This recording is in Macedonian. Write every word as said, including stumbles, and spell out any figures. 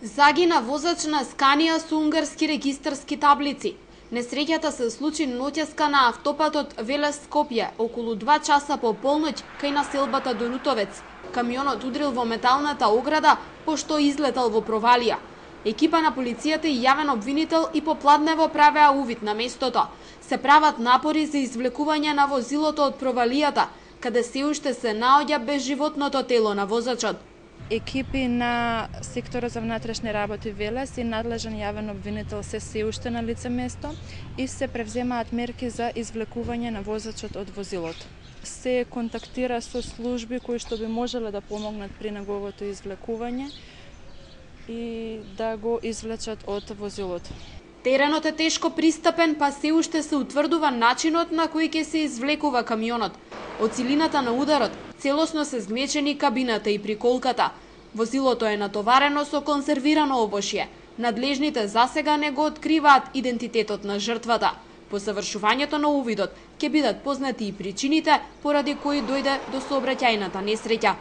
Загина возач на Сканија со унгарски регистарски таблици. Несреќата се случи ноќеска на автопатот Велес-Скопје, околу два часа по полноќ кај населбата Дорутовец. Камионот удрил во металната ограда, пошто излетал во провалија. Екипа на полицијата и јавен обвинител и попладнево правеа увид на местото. Се прават напори за извлекување на возилото од провалијата, каде се уште се наоѓа безживотното тело на возачот. Екипи на сектора за внатрешни работи Велес и надлежен јавен обвинител се се уште на лице место и се превземаат мерки за извлекување на возачот од возилото. Се контактира со служби кои што би можеле да помогнат при неговото извлекување и да го извлечат од возилото. Теренот е тешко пристапен, па се уште се утврдува начинот на кој ќе се извлекува камионот. Од силината на ударот целосно се згнечени кабината и приколката. Возилото е натоварено со конзервирано овошје. Надлежните засега не го откриваат идентитетот на жртвата. По завршувањето на увидот ќе бидат познати и причините поради кои дојде до сообраќајната несреќа.